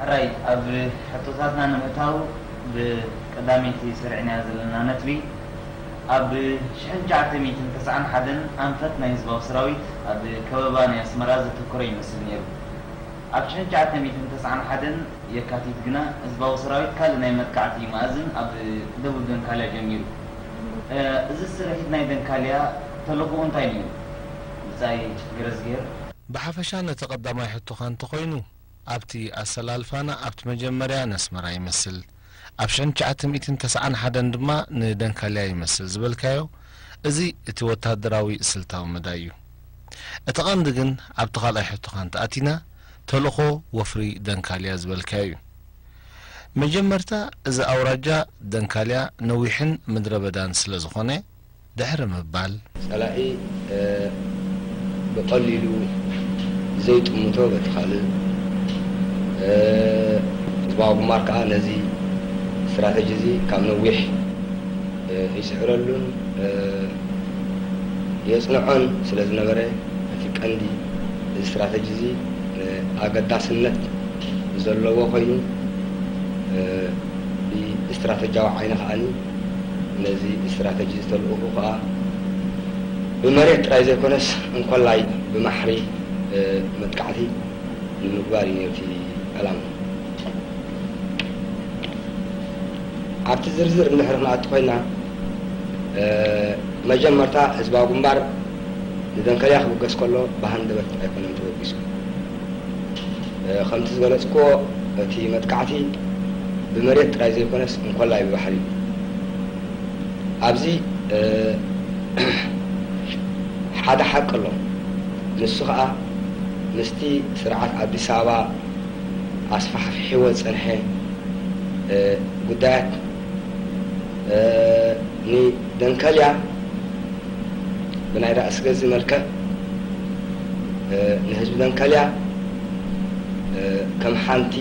ሕራይ ኣብ ሕቶታትና ንምእታው፣ ብቀዳመይቲ ሰሪዕናያ ዘለና ነጥቢ፣ ኣብ ሽሕን ትሽዓተ ሚእትን ተስዓን ሓደን ኣንፈት ናይ ህዝባዊ ሰራዊት ኣብ ከበባ ናይ ኣስመራ ዘተኮረ ይመስል ነይሩ። ኣብ ሽሕን ትሽዓተ ሚእትን ተስዓን ሓደን የካቲት ግና ህዝባዊ ሰራዊት ካልእ ናይ መጥቃዕቲ መኣዝን ኣብ ደቡብ ደንካልያ ጀሚሩ። እዚ ስርሒት ናይ ደንካልያ ተልእኾኡ እንታይ ነይሩ? ብጻይ ገረዝግሄር። ብሓፈሻ ነቲ ቀዳማይ ሕቶኻ እንተኾይኑ፣ ኣብቲ ኣሰላልፋና ኣብቲ መጀመርያ ነስመራ ይመስል፣ ኣብ ሽሕን ትሽዓተ ሚእትን ተስዓን ሓደን ድማ ንደንካልያ ይመስል ዝበልካዮ፣ እዚ እቲ ወታደራዊ ስልታዊ መዳይ እዩ። እቲ ቀንዲ ግን ኣብቲ ካልኣይ ሕቶኻ እንተኣቲና፣ ተልእኾ ወፍሪ ደንካልያ ዝበልካዮ እዩ። መጀመርታ እዚ ኣውራጃ ደንካልያ ነዊሕን ምድረ በዳን ስለ ዝኾነ፣ ድሕሪ ምባል፣ ጸላኢ ብቐሊሉ ዘይጥምቶ በቲ ካልእ፣ ህዝባዊ ግንባር ከኣ ነዚ ስትራተጂ እዚ ካብ ነዊሕ ይጽዕረሉን የጽንዖን ስለ ዝነበረ፣ እቲ ቀንዲ እዚ ስትራተጂ እዚ ኣገዳስነት ዘለዎ ኮይኑ፣ ብስትራተጂያዊ ዓይኒ ከኣ ነዚ ስትራተጂ ዝተልእኹ ከኣ ብመሬት ጥራይ ዘይኮነስ እንኮላይ ብማሕሪ መጥቃዕቲ ንምግባር እዩ ነቲ ዕላማ። ኣብቲ ዝርዝር እንድሕሪ ክንኣቱ ኮይና፣ መጀመርታ ህዝባዊ ግንባር ንደንከልያ ክብገስ ከሎ ብሃንደበት ኣይኮነን ተበጊሱ። ከምቲ ዝገለጽክዎ፣ እቲ መጥቃዕቲ ብመሬት ጥራይ ዘይኮነስ እንኮላይ ብባሕሪ እዩ። ኣብዚ ሓደ ሓቂ ኣሎ። ንሱ ኸኣ ምስቲ ስርዓት ኣዲስ ኣበባ ኣስፋሕፊሕዎ ዝጸንሐ ጉዳያት ንደንከልያ ብናይ ራእሲ ገዝ መልክዕ ንህዝቢ ደንከልያ ከም ሓንቲ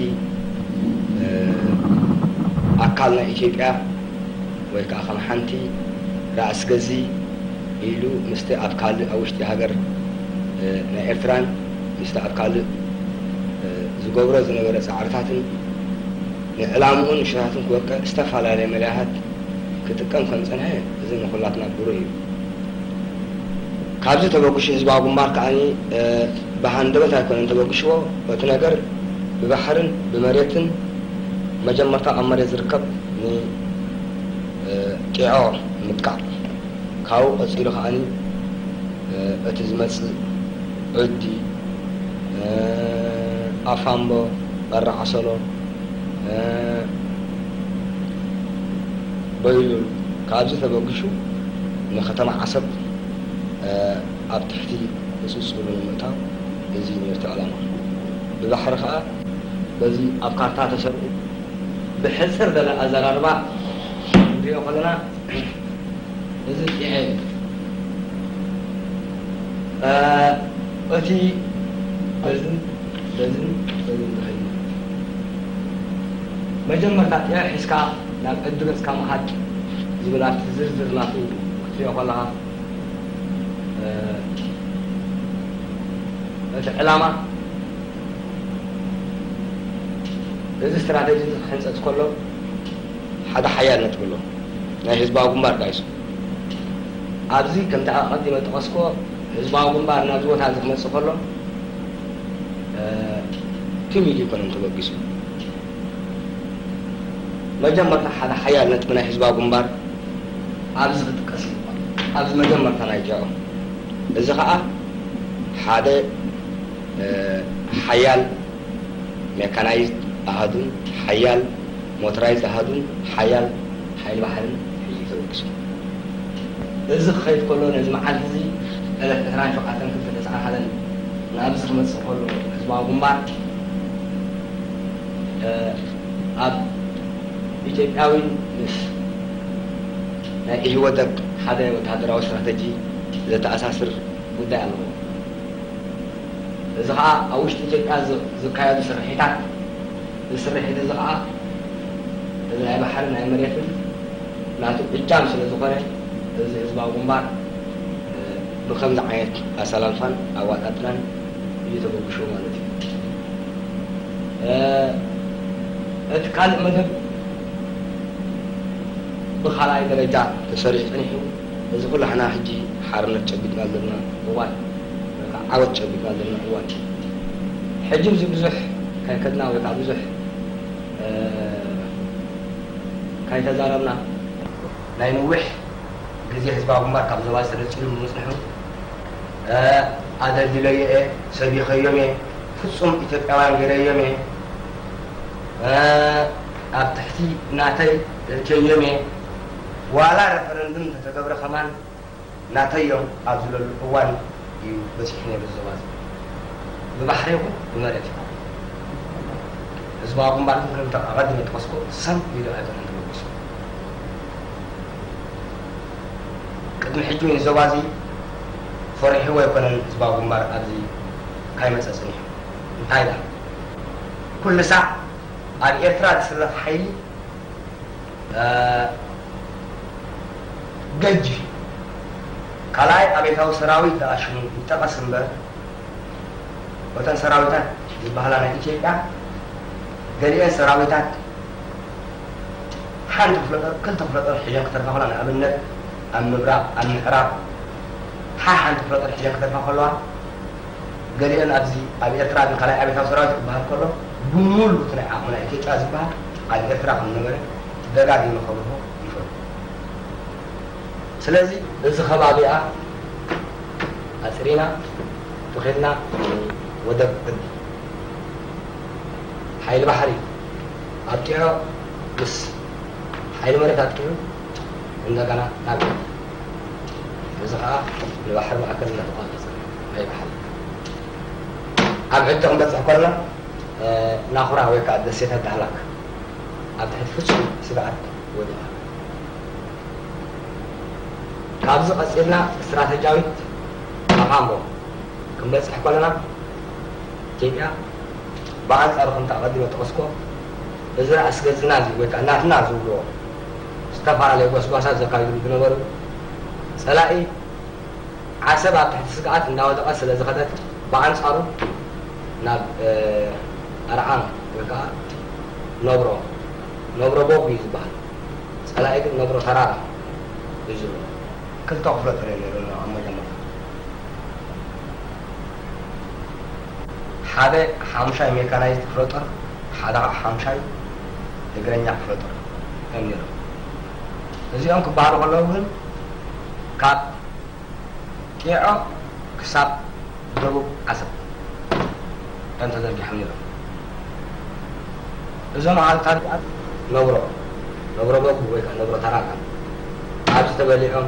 ኣካል ናይ ኢትዮጵያ ወይ ከዓ ከም ሓንቲ ራእሲ ገዝ ኢሉ ምስቲ ኣብ ካልእ ኣብ ውሽጢ ሃገር ናይ ኤርትራን ምስቲ ኣብ ካልእ ዝገብሮ ዝነበረ ፃዕርታትን ንዕላምኡን ንሽራትን ክወቅዕ ዝተፈላለየ መዳያት ክጥቀም ከም ዝፀንሐ እዚ ንኹላትና ብሩህ እዩ። ካብዚ ተበግሹ ህዝባዊ ግንባር ከኣ ብሃንደበት ኣይኮነን ተበግሽዎ፣ እቲ ነገር ብባሕርን ብመሬትን መጀመርታ ኣብ መሬት ዝርከብ ንጢዖ ምጥቃዕ፣ ካብኡ ቀፂሉ ከኣ እቲ ዝመፅእ ዕዲ፣ ኣፋምቦ፣ በራዓሰሎ፣ በይሉል ካብዚ ተበጊሱ ንከተማ ዓሰብ ኣብ ትሕቲ ቁፅፅሩ ንምእታው እዚ ነርቲ ዕላማ። ብባሕሪ ከዓ በዚ ኣብ ካርታ ተሰሪዑ ብሕፅር ዝበለ ኣዘራርባ ክንሪኦ ከለና እዚ ጢዐ እዩ። እቲ በዝን በዝን በዝን ዝኸይድ መጀመርታ ጢዐ ሒዝካ ናብ ዕዲ ገጽካ ምኻድ ዝብል ኣብቲ ዝርዝር ናቱ ክትሪኦ ከለኻ እቲ ዕላማ እዚ ስትራተጂ እዚ ክሕንጸጽ ከሎ ሓደ ሓያል ነጥቢ ኣሎ። ናይ ህዝባዊ ግንባር ዳይሱ ኣብዚ ከምቲ ኣቐዲመ ጠቐስኮ ህዝባዊ ግንባር ናብዚ ቦታ እዚ ክመጽእ ከሎ ትም ኢሉ ይኮነን ተበጊሱ። መጀመርታ ሓደ ሓያል ነጥቢ ናይ ህዝባዊ ግንባር ኣብዚ ክጥቀስ ይግባእ። ኣብዚ መጀመርታ ናይ ጀዖ እዚ ከዓ ሓደ ሓያል ሜካናይዝድ ኣሃዱን ሓያል ሞተራይዝድ ኣሃዱን ሓያል ሓይሊ ባሕርን ሒዙ ተበጊሱ። እዚ ክኸይድ ከሎ ነዚ መዓልቲ እዚ ዕለት ዕስራን ሸውዓተን ክልተ ተስዓን ሓደን ናብዚ ክመፅእ ከሎ ህዝባዊ ግንባር ኣብ ኢትዮጵያዊ ምስ ናይ ኢህወደግ ሓደ ወታደራዊ ስትራተጂ ዘተኣሳስር ጉዳይ ኣለዎ። እዚ ከዓ ኣብ ውሽጢ ኢትዮጵያ ዝካየዱ ስርሒታት፣ እዚ ስርሒት እዚ ከዓ እዚ ናይ ባሕሪ ናይ መሬትን ናቱ እጃም ስለ ዝኾነ እዚ ህዝባዊ ግንባር ብከምዚ ዓይነት ኣሰላልፋን ኣዋጣጥናን እዩ ተበግሽዎ ማለት እዩ። እቲ ካልእ መደብ ብኻልኣይ ደረጃ ተሰሪዑ ጸኒሑ። እዚ ኩላህና ሕጂ ሓርነት ጨቢጥና ዘለና እዋን፣ ወይ ከዓ ዓወት ጨቢጥና ዘለና እዋን እዩ። ሕጂ እዚ ብዙሕ ካይከድና ወይ ከዓ ብዙሕ፣ እ፣ ካይተዛረብና፣ ናይ ነዊሕ ግዜ ህዝባዊ ግንባር ካብ ዞባ ተነጺሉ ብምጽንሑ፣ እ፣ ኣደልዲለዮ እየ፣ ሰቢኸዮም እየ፣ ፍጹም ኢትዮጵያውያን ገይረዮም እየ፣ እ፣ ኣብ ትሕቲ ናተይ እእትየዮም እየ፣ ዋላ ረፈረንድም እንተተገብረ ከማን ናተይ እዮም ኣብ ዝብለሉ እዋን እዩ በጺሑ ነይሩ እዚ ዞባ እዚ። ብባሕሪ ይኹን ብመሬት ይኹን። ህዝባዊ ግንባር ግን ከምቲ ኣቐዲመ ጠቐስኩ፣ ሰም ኢሉ ኣይኮነን ተበጊሱ። ቅድሚ ሕጂ እውን ዞባ እዚ ፈሪሕዎ ኣይኮነን ህዝባዊ ግንባር ኣብዚ ካይመጸ ጸኒሑ። እንታይ ደኣ? ኩሉ ሳዕ ኣብ ኤርትራ ዝስለፍ ሓይሊ፣ እ፣ ገጅፍ እዩ። ካልኣይ ኣብዮታዊ ሰራዊት ደኣ ሽሙ ይጠቐስ እምበር፣ እተን ሰራዊታት ዝበሃላ ናይ ኢትዮጵያ፣ ገሊአን ሰራዊታት ሓንቲ ክፍለ ጦር፣ ክልተ ክፍለ ጦር ሒዘን ክተርፋ ከለዋ፣ ንኣብነት ኣብ ምብራቕ፣ ኣብ ምዕራብ ሓሓንቲ ክፍለ ጦር ሒዘን ክተርፋ ከለዋ፣ ገሊአን ኣብዚ ኣብ ኤርትራ ግን ካልኣይ ኣብዮታዊ ሰራዊት ክበሃል ከሎ፣ ብምሉእ እቲ ናይ ዓቕሚ ናይ ኢትዮጵያ ዝበሃል ኣብ ኤርትራ ከም ዝነበረ ደጋጊመ ከብርሆ ይፈቱ። ስለዚ እዚ ከባቢኣ ኣጽሪና ተኺልና ወደብ ቅዲ ሓይሊ ባሕሪ ኣጥቂዑ ምስ ሓይሊ መሬት ኣጥቂዑ እንደገና ናብ ቅዲ። እዚ ኸኣ ንባሕሪ ማእከል እናተቋጸጸ ናይ ባሕሪ ኣብ ዕጥቂ ክንበጽሕ ከለና፣ እ፣ ናኹራ ወይ ከኣ ደሴታት ዳህላክ ኣብ ትሕቲ ፍጹም ስግኣት ወዲቓ። ካብዚ ቀጺልና ስትራተጂያዊት ኣብ ኣምቦ ክንበጽሕ ከለና፣ ኢትዮጵያ ብኣንጻሩ ከምቲ ኣቐዲመ ጠቐስኮ፣ እዚ ራእሲ ገዝና እዚ ወይ ከኣ ናትና ዝብልዎ ዝተፈላለየ ጎስጓሳት ዘካይድሉ ዝነበሩ ጸላኢ ዓሰብ ኣብ ትሕቲ ስግኣት እናወደቐ ስለ ዝኸደት፣ ብኣንጻሩ ናብ፣ እ፣ ኣርዓም ወይ ከኣ ነብሮ፣ ነብሮ ቦጉ እዩ ዝበሃል። ጸላኢ ግን ነብሮ ተራራ እዩ ዝብሎ። ክልተ ክፍለ ጦር እዩ ነይሩ ኣብ መጀመርታ። ሓደ ሓሙሻይ ሜካናይዝድ ክፍለ ጦር፣ ሓደ ከዓ ሓሙሻይ እግረኛ ክፍለ ጦር እዮም ነይሮም። እዚኦም ክበሃሉ ከለዉ ግን ካብ ጢዖ ክሳብ ደቡብ ዓሰብ እዮም ተዘርጊሖም ነይሮም። እዞም ኣሃዱታት ነብሮ፣ ነብሮ በጉ ወይ ከዓ ነብሮ ተራራ ኣብዚ ተበሊዖም፣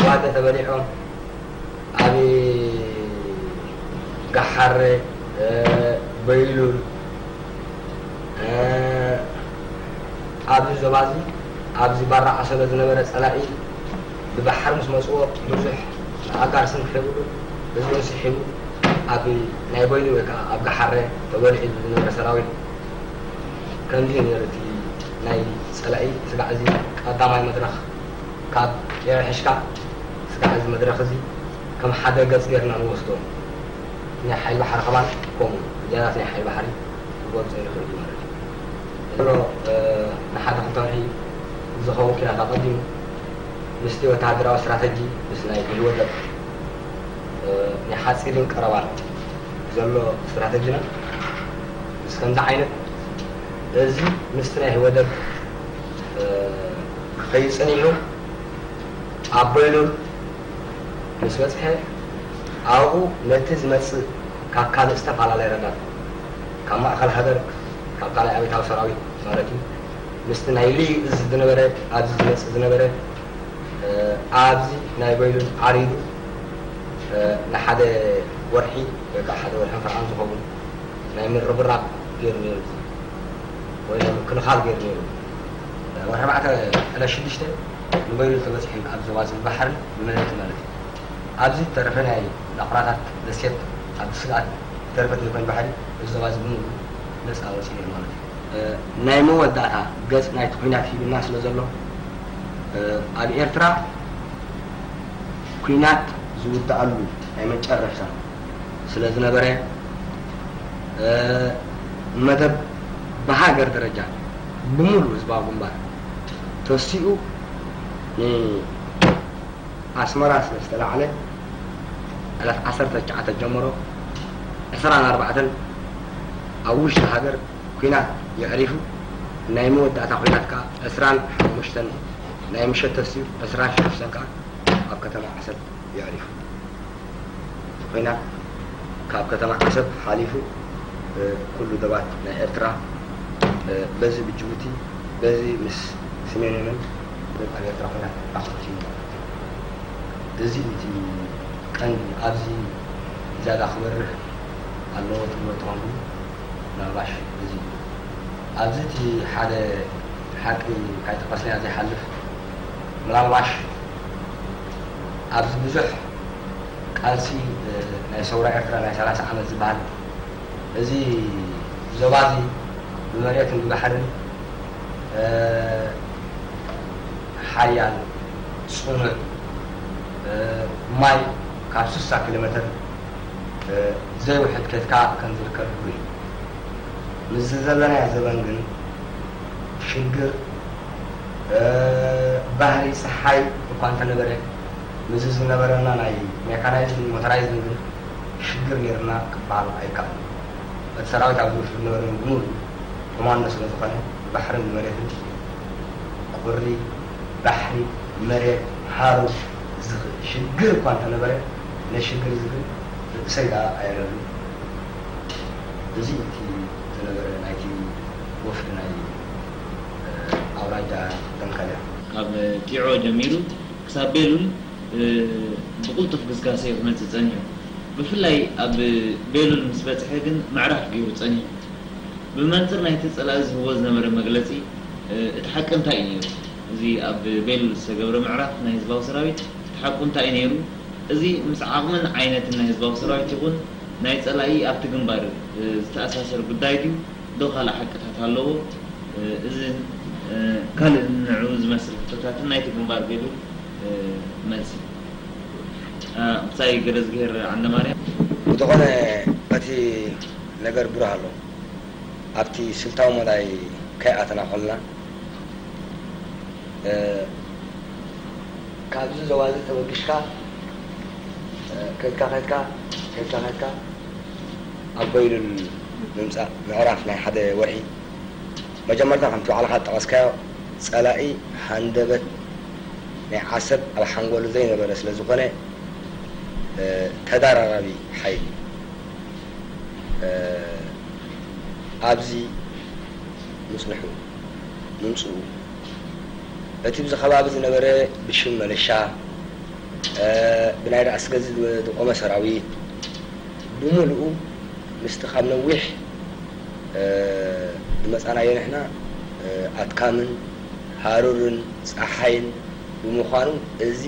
ዋደ ተበሊዖም፣ ኣብ ጋሓረ፣ እ፣ በይሉል፣ እ፣ ኣብዚ ዞባ እዚ፣ ኣብዚ ባራ ዓሰሎ ዝነበረ ጸላኢ ብባሕሪ ምስ መጽዎ ብዙሕ ንኣጋርስን ክሒብሉ ህዝብን ስሒቡ ኣብ ናይ በይኑ ወይ ከዓ ኣብ ጋሓረ ተበሊዑ ዝነበረ ሰራዊት ከምዚ እዩ ነይሩ። እቲ ናይ ጸላኢ ስጋዕ እዚ ቀዳማይ መድረኽ ካብ ቄረ ሕሽካ ስጋዕ እዚ መድረኽ እዚ ከም ሓደ ገጽ ጌርና ንወስዶ። ናይ ሓይሊ ባሕሪ ከማን ከምኡ፣ ጀነራት ናይ ሓይሊ ባሕሪ ክገልጾ ይኽእል እዩ ማለት እዩ። ዘሎ፣ እ፣ ንሓደ ክልተ ወርሒ ዝኸውን ኲናት ኣቐዲሙ ምስቲ ወተሃደራዊ ስትራተጂ ምስ ናይ ኢህወደግ፣ እ፣ ናይ ሓጺርን ቀረባን ዘሎ ስትራተጂና ምስ ከምዚ ዓይነት እዚ ምስቲ ናይ ኢህወደግ፣ እ፣ ክኸይድ ጸኒሑ ኣብ በይሉል ምስ በጽሐ ኣብኡ ነቲ ዝመጽእ ካብ ካልእ ዝተፈላለየ ረዳት ካብ ማእከል ሃገር ካብ ካልኣይ ኣብዮታዊ ሰራዊት ማለት እዩ ምስቲ ናይ ልዩ እዚ ዝነበረ ኣብዚ ዝመጽእ ዝነበረ እ፣ ኣብዚ ናይ በይሉል ዓሪዱ እ፣ ንሓደ ወርሒ ወይ ከዓ ሓደ ወርሒ ፈርዓን ዝኸውን ናይ ምርብራብ ገይሩ ነይሩ ወይ ናይ ምክልኻል ገይሩ ነይሩ። ወርሒ ኣርባዕተ ዕለት ሽዱሽተ ንበይኑ ተበፂሑ ኣብ ዞባ ዝብል ባሕሪ ብመሬት ማለት እዩ። ኣብዚ ዝተረፈ ናይ ናቑራታት ደሴት ኣብ ስግኣት ዝተረፈት ዘይኮን ባሕሪ እዚ ዞባ እዚ ብምሉእ ነፃ ወፂኡ ነይሩ ማለት እዩ። እ፣ ናይ መወዳእታ ገፅ ናይቲ ኩናት ሂብና ስለ ዘሎ እ፣ ኣብ ኤርትራ ኩናት ዝውዳኣሉ ናይ መጨረሻ ስለ ዝነበረ እ፣ መደብ ብሃገር ደረጃ ብምሉእ ህዝባዊ ግንባር ተሲኡ ንኣስመራ ስለ ዝተላዕለ ዕለት ዓሰርተ ትሽዓተ ጀምሮ ዕስራን ኣርባዕተን ኣብ ውሽጢ ሃገር ኲናት የዕሪፉ። ናይ መወዳእታ ኲናት ከኣ ዕስራን ሓሙሽተን ናይ ምሸት ተሲኡ ዕስራን ሽዱሽተን ከኣ ኣብ ከተማ ዓሰብ የዕሪፉ። ኲናት ካብ ከተማ ዓሰብ ሓሊፉ ኩሉ ዶባት ናይ ኤርትራ በዚ ብጅቡቲ በዚ ምስ ስሜንዮንን ኣብ ኤርትራ ኲናት ኣኽቲሙ ማለት እዩ። እዚ እቲ ቀንዲ ኣብዚ ዝያዳ ክበርህ ኣለዎ ትብሎ ተኾንኩም ምናልባሽ እዚ ኣብዚ እቲ ሓደ ሓቂ ካይጠቐስናዮ ዘይሓልፍ ምናልባሽ ኣብዚ ብዙሕ ቃልሲ ናይ ሰውራ ኤርትራ ናይ ሰላሳ ዓመት ዝበሃል እዚ ዞባ እዚ ብመሬትን ብባሕርን ሓያል ጽኑዕ ማይ ካብ ስሳ ኪሎ ሜትር ዘይውሕድ ኬድካ ከም ዝርከብ ሕጉ እዩ። ምስዚ ዘለናዮ ዘበን ግን ሽግር ባህሪ ጸሓይ እኳ እንተነበረ ምስዚ ዝነበረና ናይ ሜካናይዝድን ሞተራይዝድን ግን ሽግር ነይርና ክበሃል ኣይከኣልን። እቲ ሰራዊት ኣብ ዝወስዱ ዝነበረ ብምሉኡ ኮማንዶ ስለ ዝኾነ ብባሕርን ብመሬትን ቁሪ ባሕሪ መሬት ሃሩር ዝኽእል ሽግር እኳ እንተነበረ ነቲ ሽግር እዚ ግን ርእሰይ ደኣ ኣየለሉ። እዚ እቲ ዝነበረ ናይቲ ወፍሪ ናይ ኣውራጃ ደንከልያ። ካብ ቲዖ ጀሚሩ ክሳብ ቤሉል ብቕልጡፍ ግስጋሰ እዩ ክመጽእ ጸኒሑ። ብፍላይ ኣብ ቤሉል ምስ በጽሐ ግን ምዕራፍ ገይሩ ጸኒሑ። ብመንጽር ናይቲ ጸላኢ ዝህቦ ዝነበረ መግለጺ እቲ ሓቂ እንታይ እዩ ነይሩ? እዚ ኣብ ቤሉል ዝተገብረ ምዕራፍ ናይ ህዝባዊ ሰራዊት እቲ ሓቁ እንታይ እዩ ነይሩ? እዚ ምስ ዓቕምን ዓይነትን ናይ ህዝባዊ ሰራዊት ይኹን ናይ ጸላኢ ኣብቲ ግንባር ዝተኣሳሰር ጉዳይ ድዩ? ዶ ካልእ ሓቅታት ኣለዎ? እዝን ካልእ ንዕኡ ዝመስል ሕቶታትን ናይቲ ግንባር ቤሉል መልሲ። ምሳይ ገረዝግሄር ዓንደማርያም። ብዝኾነ እቲ ነገር ብሩህ ኣሎ። ኣብቲ ስልታዊ መዳይ ከይኣተና ከለና ካብዚ ዞባ እዚ ተበጊስካ ከድካ ከድካ ከድካ ከድካ ኣብ በይሉል ምምፃእ ምዕራፍ ናይ ሓደ ወርሒ መጀመርታ ከምቲ ባዕልኻ ዝጠቐስካዮ ፀላኢ ሃንደበት ናይ ዓሰብ ኣብ ሓንጎሉ ዘይነበረ ስለ ዝኾነ ተዳራራቢ ሓይሊ ኣብዚ ምፅንሑ ምምፅኡ እቲ ብዚ ከባቢ ዝነበረ ብሽም መለሻ ብናይ ራእሲ ገዝ ዝቆመ ሰራዊት ብምሉኡ ምስቲ ካብ ነዊሕ ዝመፃናዮ ንሕና ኣድካምን ሃሩርን ፀሓይን ብምዃኑ እዚ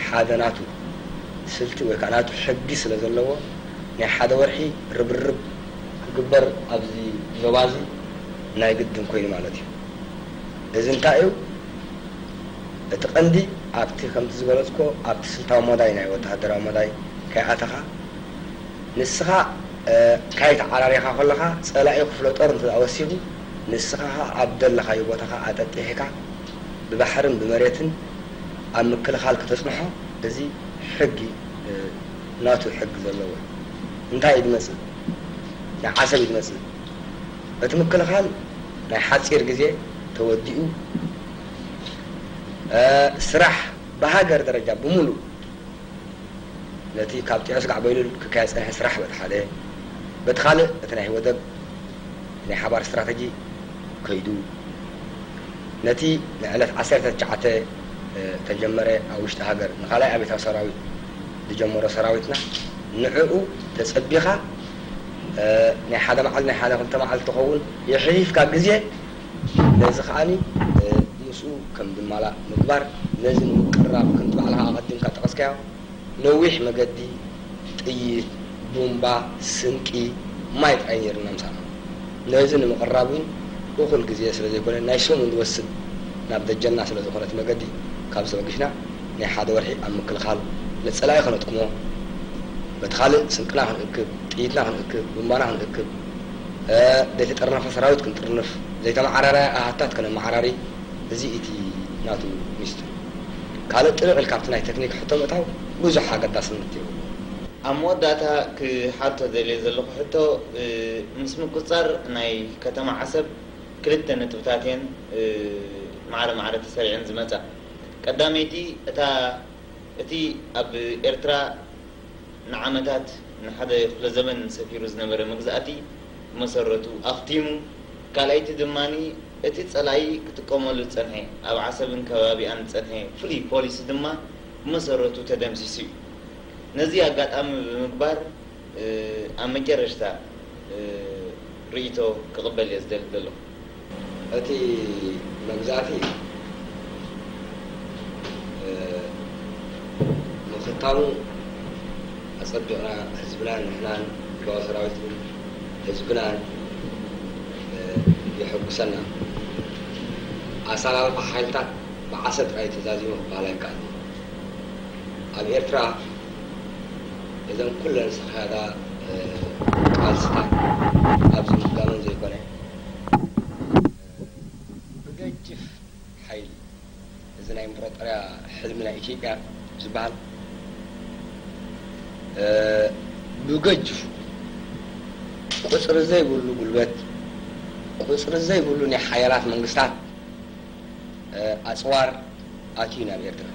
ሓደ ናቱ ስልቲ ወይ ከዓ ናቱ ሕጊ ስለ ዘለዎ ናይ ሓደ ወርሒ ርብርብ ክግበር ኣብዚ ዞባ እዚ ናይ ግድን ኮይኑ ማለት እዩ። እዚ እንታይ እዩ? እቲ ቀንዲ ኣብቲ ከምቲ ዝገለፅኮ ኣብቲ ስልታዊ መዳይ ናይ ወተሃደራዊ መዳይ ከይኣተኻ ንስኻ ካይተዓራሪኻ ከለኻ ፀላኢ ክፍለ ጦር እንተ ወሲኹ ንስኻ ኣብ ደለኻዮ ቦታኻ ኣጠጢሕካ ብባሕርን ብመሬትን ኣብ ምክልኻል ከተፅንሖ እዚ ሕጊ ናቱ ሕጊ ዘለዎ እዩ። እንታይ እዩ ዝመፅእ? ናይ ዓሰብ እዩ ዝመፅእ። እቲ ምክልኻል ናይ ሓፂር ግዜ ተወዲኡ ስራሕ ብሃገር ደረጃ ብምሉእ ነቲ ካብ ጢዖ ስጋዕ በይሉል ክካየድ ዝጸንሐ ስራሕ በቲ ሓደ፣ በቲ ካልእ እቲ ናይ ወደብ ናይ ሓባር ስትራተጂ ከይዱ፣ ነቲ ንዕለት ዓሰርተ ትሽዓተ ተጀመረ ኣብ ውሽጢ ሃገር ንኻልኣይ ኣብዮታዊ ሰራዊት ዝጀመሮ ሰራዊትና ንዕኡ ተጸቢኻ ናይ ሓደ መዓልቲ ናይ ሓደ ክልተ መዓልቲ ትኸውን የሕሊፍካ ግዜ ነዚ ከዓኒ ምስኡ ከም ዝማላእ ምግባር፣ ነዚ ንምቅርራብ ከምቲ ባዕልኻ ኣቐዲምካ ጠቐስካዮ ነዊሕ መገዲ ጥይት፣ ቡምባ፣ ስንቂ፣ ማይ ጥራይ ነይሩና ምሳና። ነዚ ንምቕራብ እውን እኹል ግዜ ስለ ዘይኮነ ናይ ሰሙን ዝወስድ ናብ ደጀንና ስለ ዝኾነ እቲ መገዲ ካብዚ ተበጊስና ናይ ሓደ ወርሒ ኣብ ምክልኻል ነቲ ጸላኢ ከነጥክሞ በቲ ካልእ ስንቅና ክንእክብ፣ ጥይትና ክንእክብ፣ ቡምባና ክንእክብ፣ ዘይተጠርነፈ ሰራዊት ክንጥርንፍ፣ ዘይተመዓራረያ ኣሃታት ከነመዓራሪ፣ እዚ እቲ ናቱ ሚስጥር። ካልእ ጥልቕ ኢልካ ኣብቲ ናይ ቴክኒክ ሕቶ ምእታው ብዙሕ ኣገዳስነት የብሉን። ኣብ መወዳእታ ክሓቶ ደልየ ዘለኹ ሕቶ፣ እ፣ ምስ ምቁጽጻር ናይ ከተማ ዓሰብ ክልተ ነጥብታት እየን፣ እ፣ ማዕረ ማዕረ ተሰሪዐን ዝመጻ። ቀዳመይቲ፣ እታ፣ እቲ ኣብ ኤርትራ ንዓመታት ንሓደ ክፍለ ዘመን ሰፊሩ ዝነበረ መግዛእቲ ብመሰረቱ ኣኽቲሙ፣ ካልኣይቲ ድማ እቲ ጸላኢ ክጥቀመሉ ዝጸንሐ ኣብ ዓሰብን ከባቢኣን ዝጸንሐ ፍሉይ ፖሊሲ ድማ ብመሰረቱ ተደምሲሱ እዩ። ነዚ ኣጋጣሚ ብምግባር፣ እ፣ ኣብ መጨረሽታ፣ እ፣ ርእይቶ ክቕበል እየ ዝደሊ ዘለኹ። እቲ መግዛእቲ፣ እ፣ ምኽታሙ ኣጸቢቕና ህዝብናን ንሕናን ህዝባዊ ሰራዊትን ህዝብናን፣ እ፣ የሐጉሰና። ኣሰላልፋ ሓይልታት ብዓሰብ ጥራይ ተዛዚሙ ክበሃል ኣይከኣልን። ኣብ ኤርትራ እዘን ኩለን ዝኸዳ፣ እ፣ ቃልስታት ኣብዚ ምድጋመን ዘይኮነ፣ ብገጅፍ ሓይሊ እዚ ናይ ኢምፐራጦርያ ሕልሚ ናይ ኢትዮጵያ ዝበሃል፣ እ፣ ብገጅፉ ቁጽሪ ዘይብሉ ጉልበት፣ ቁጽሪ ዘይብሉ ናይ ሓያላት መንግስታት፣ እ፣ ኣጽዋር ኣትዩ ናብ ኤርትራ።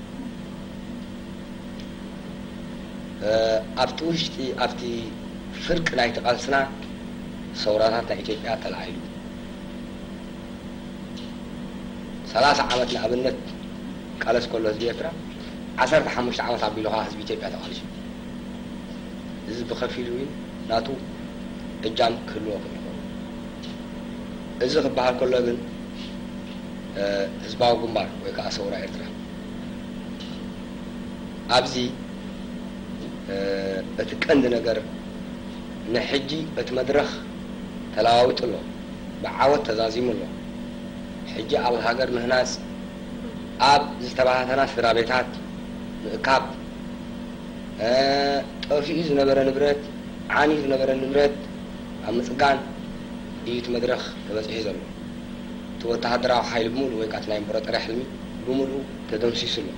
እ፣ ኣብቲ ውሽጢ፣ ኣብቲ ፍርቂ ናይቲ ቃልስና ሰውራታት ናይ ኢትዮጵያ ተላዒሉ። ሰላሳ ዓመት ንኣብነት ቃለስ ከሎ ህዝቢ ኤርትራ፣ ዓሰርተ ሓሙሽተ ዓመት ኣቢሉ ኸዓ ህዝቢ ኢትዮጵያ ተቓሊሱ። እዚ ብኸፊሉ እውን ናቱ እጃም ክህልዎ ክእል ይኸውን። እዚ ክበሃል ከሎ ግን፣ እ፣ ህዝባዊ ግንባር ወይ ከዓ ሰውራ ኤርትራ ኣብዚ፣ እ፣ እቲ ቀንዲ ነገር ንሕጂ እቲ መድረኽ ተለዋዊጡ ኣሎ፣ ብዓወት ተዛዚሙ ኣሎ። ሕጂ ኣብ ሃገር ምህናጽ፣ ኣብ ዝተበታተና ስድራ ቤታት ምእካብ፣ እ፣ ጠፊኡ ዝነበረ ንብረት፣ ዓንዩ ዝነበረ ንብረት ኣብ ምጽጋን እዩ እቲ መድረኽ ተበጺሑ ዘሎ። እቲ ወተሃደራዊ ሓይሊ ብምሉእ ወይ ከኣ እቲ ናይ ኢምፐራጦርያ ሕልሚ ብምሉኡ ተደምሲሱ ኣሎ።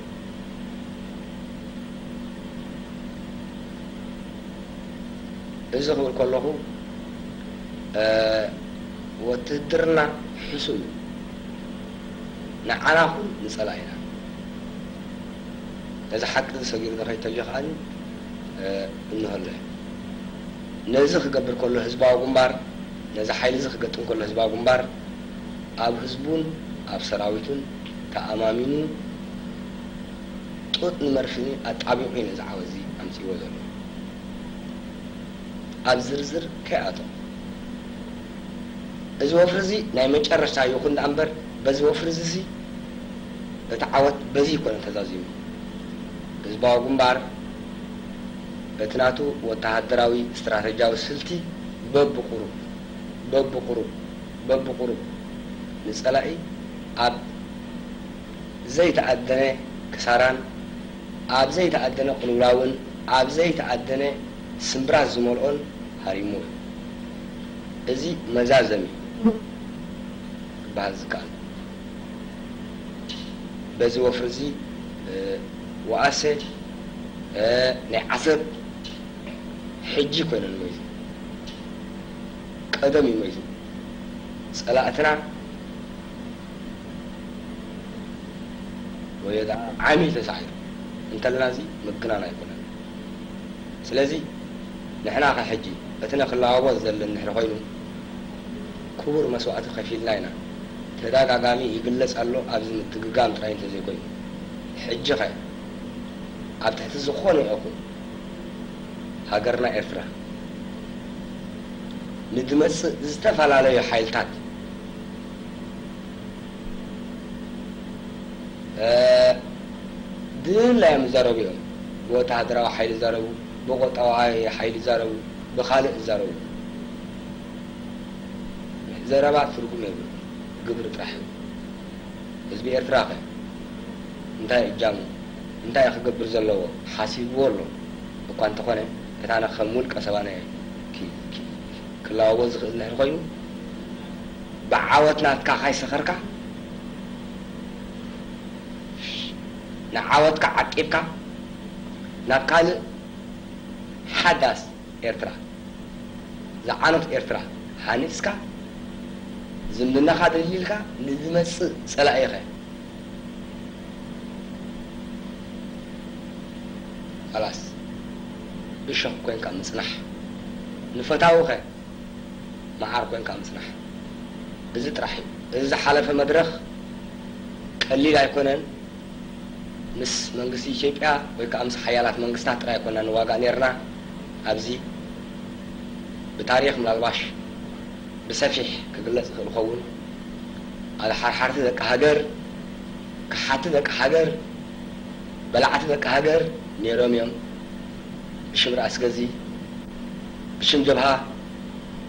እዚ ክብል ከለኹ፣ እ፣ ውትድርና ሕሱም እዩ። ንዓና ኹን ንጸላኢና። ነዚ ሓቂ እዚ ሰጊሩ ዝኸይድ ተልዩ ከኣ፣ እ፣ እንሆ ኣሎ። ነዚ ክገብር ከሎ ህዝባዊ ግንባር፣ ነዚ ሓይሊ እዚ ክገጥም ከሎ ህዝባዊ ግንባር፣ ኣብ ህዝቡን ኣብ ሰራዊቱን ተኣማሚኑ ጡጥ ንመርፍኒ ኣጣቢቑ እዩ ነዚ ዓወት እዚ ኣምጺእዎ ዘሎ። ኣብ ዝርዝር ከይኣቶ፣ እዚ ወፍሪ እዚ ናይ መጨረሽታ ይኹን ደኣ እምበር፣ በዚ ወፍሪ እዚ እዚ እቲ ዓወት በዚ ይኮነ ተዛዚሙ። ህዝባዊ ግንባር በቲ ናቱ ወተሃደራዊ ስትራተጂያዊ ስልቲ በብቁሩብ፣ በብቁሩብ፣ በብቁሩብ ንጸላኢ ኣብ ዘይተኣደነ ክሳራን ኣብ ዘይተኣደነ ቅልውላውን ኣብ ዘይተኣደነ ስምብራት ዝመልኦን ሃሪሙ። እዚ መዛዘሚ ክበሃል ዝከኣል። በዚ ወፍሪ እዚ፣ እ፣ ወኣሰ፣ እ፣ ናይ ዓሰብ ሕጂ ኮይነን ሞይቱ። ቀደም እዩ ሞይቱ። ጸላእትና ወይ ደኣ ዓሚ ተሳዒሩ እንተለና፣ እዚ ምግናን ኣይኮነን። ስለዚ ንሕና ኸ ሕጂ እቲ ነኽለዋወጥ ዘለና እንድሕሪ ኮይኑ፣ ክቡር መስዋእቲ ከፊልና ኢና። ተደጋጋሚ ይግለጽ ኣሎ፣ ኣብዚ ምድግጋም ጥራይ እንተዘይኮይኑ። ሕጂ ኸ ኣብ ትሕቲ ዝኾነ ይኹን ሃገርና ኤርትራ ንድመጽእ ዝተፈላለዩ ሓይልታት፣ እ፣ ድላዮም ይዛረቡ እዮም። ብወተሃደራዊ ሓይሊ ይዛረቡ፣ ብቆጠባዊ ሓይሊ ይዛረቡ፣ ብኻልእ ይዛረቡ። ዘረባ ትርጉም የብሉን፣ ግብሪ ጥራሕ እዩ። ህዝቢ ኤርትራ ኸ እንታይ እጃሙ፣ እንታይ ክገብር ዘለዎ ሓሲብዎ ኣሎ እኳ እንተኾነ፣ እታና ከም ውልቀ ሰባነ ኪ-፣ ኪ-፣ ክለዋወጥ ዝኽእል እንድሕር ኮይኑ፣ ብዓወት ናትካ ካይሰኸርካ፣ ንዓወትካ ዓቂብካ ናብ ካልእ ሓዳስ ኤርትራ፣ ዝዓኖት ኤርትራ ሃኒጽካ፣ ዝምድናኻ ደልዲልካ ንዝመጽእ ጸላኢኸ ኸላስ እሾኽ ኮንካ ምጽናሕ፣ ንፈታዊኸ መዓር ኮንካ ምጽናሕ። እዚ ጥራሕ እዩ። እዚ ዝሓለፈ መድረኽ ቀሊል ኣይኮነን። ምስ መንግስቲ ኢትዮጵያ ወይ ከኣ ምስ ሓያላት መንግስታት ጥራይ ኣይኮና ንዋጋእ ነይርና። ኣብዚ ብታሪኽ ምናልባሽ ብሰፊሕ ክግለጽ ይኽእል ይኸውን። ኣድሓርሓርቲ ደቂ ሃገር፣ ከሓቲ ደቂ ሃገር፣ በላዕቲ ደቂ ሃገር ነይሮም እዮም። ብሽም ራእሲ ገዚ፣ ብሽም ጀብሃ፣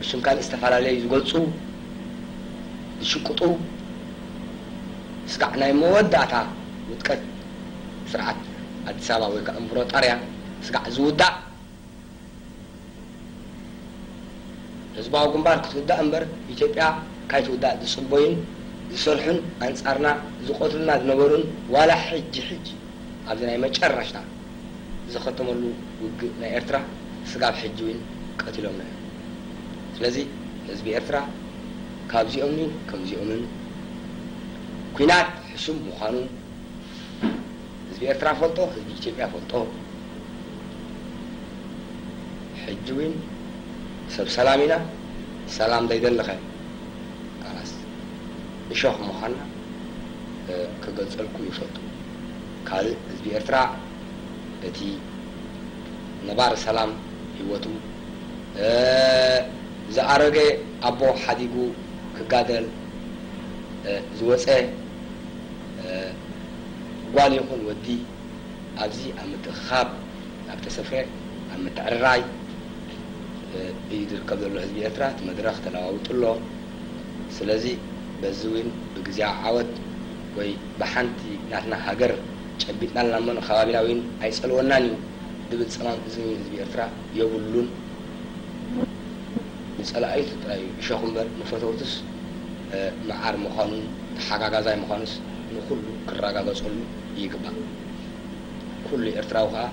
ብሽም ካልእ ዝተፈላለዩ ዝገልጹ፣ ዝሽቅጡ፣ ስጋዕ ናይ መወዳእታ ውድቀት ስርዓት ኣዲስ ኣበባ ወይ ከዓ እምብሮጣርያ ስጋዕ ዝውዳእ ህዝባዊ ግንባር ክትውዳእ እምበር ኢትዮጵያ ካይትውዳእ ዝጽበዩን ዝሰርሑን ኣንጻርና ዝቐትሉና ዝነበሩን ዋላ ሕጂ ሕጂ ኣብዚ ናይ መጨረሽታ ዝኸተመሉ ውግእ ናይ ኤርትራ ስጋብ ሕጂ እውን ቀቲሎምና እዮም። ስለዚ ህዝቢ ኤርትራ ካብዚኦም እዩ ከምዚኦምን ኲናት ሕሱም ምዃኑ ህዝቢ ኤርትራ ፈልጦ፣ ህዝቢ ኢትዮጵያ ፈልጦ። ሕጂ እውን ሰብ ሰላም ኢና፣ ሰላም ዘይደለኸ ካላስ እሾኽ ምዃንና ክገልጸልኩም ይፈቱ። ካልእ ህዝቢ ኤርትራ እቲ ነባሪ ሰላም ህይወቱ ዝኣረገ ኣቦ ሓዲጉ ክጋደል ዝወፀ ጓል ይኹን ወዲ ኣብዚ ኣብ ምትእኽኻብ፣ ኣብ ተሰፍረ፣ ኣብ ምትዕርራይ እዩ ዝርከብ ዘሎ ህዝቢ ኤርትራ። እቲ መድረኽ ተለዋውጡ ኣሎ። ስለዚ በዚ እውን ብግዜያዊ ዓወት ወይ ብሓንቲ ናትና ሃገር ጨቢጥና ኣለና እሞ ንከባቢና እውን ኣይጸልወናን እዩ ዝብል ጸማም እዝኒ ህዝቢ ኤርትራ የብሉን። ንጸላኢቱ ጥራይ እዩ እሾኽ እምበር ንፈተውቱስ መዓር ምዃኑን ተሓጋጋዛይ ምዃኑስ ንኹሉ ክረጋገጸሉ ይግባእ። ኩሉ ኤርትራዊ ከኣ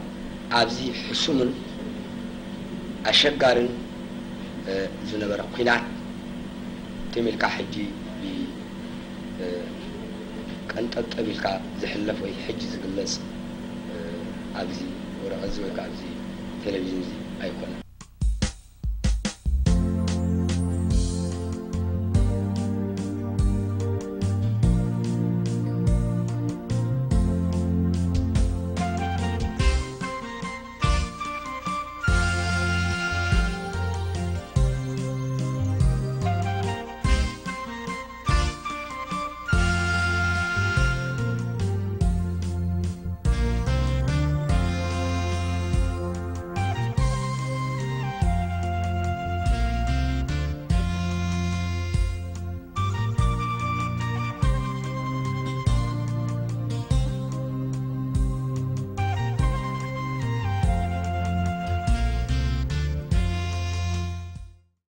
ኣብዚ ሕሱምን ኣሸጋርን ዝነበረ ኲናት ትም ኢልካ ሕጂ ቀንጠብጠብ ኢልካ ዝሕለፍ ወይ ሕጂ ዝግለጽ ኣብዚ ወረቐት እዚ ወይ ከዓ ኣብዚ ቴሌቪዥን እዚ ኣይኮነን።